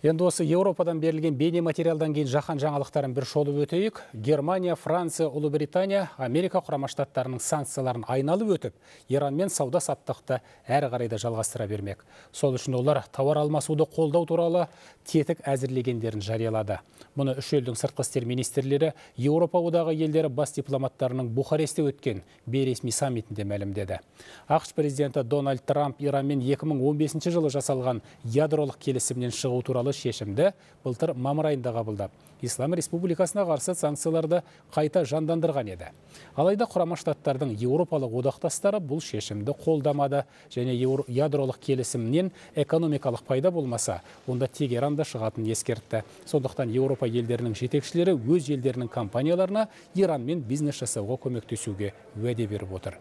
Енді осы Еуропадан берілген бейне материалдан кейін жаһан жаңалықтарын бір шолып өтейік. Германия, Франция, Ұлыбритания, Америка құрама штаттарының санкцияларын айналып өтіп, Иранмен сауда саттықты әрі қарайда жалғастыра бермек. Сол үшін олар тауар алмасуды қолдау туралы тетік әзірлегендерін жариялады. Мұны үш елдің сыртқы істер министрлері Еуропа одағы елдері бас дипломаттарының Бухаресте өткен бейресми саммитінде мәлімдеді. ақш президенті Дональд Трамп Иранмен 2015 жылы жасалған ядролық келісімнен шығу туралы шешімді былтыр мамыр айында қабылдап, Ислам Республикасына қарсы санкцияларды қайта жандандырған еді. Алайда құрама штаттардың еуропалық одақтастары бұл шешімді қолдамады және ядролық келісімнен экономикалық пайда болмаса, онда Тегеранда шығатын ескертті. Сондықтан Еуропа елдерінің жетекшілері өз елдерінің компанияларына Иранмен бизнес жасауға көмектесуге уәде беріп отыр.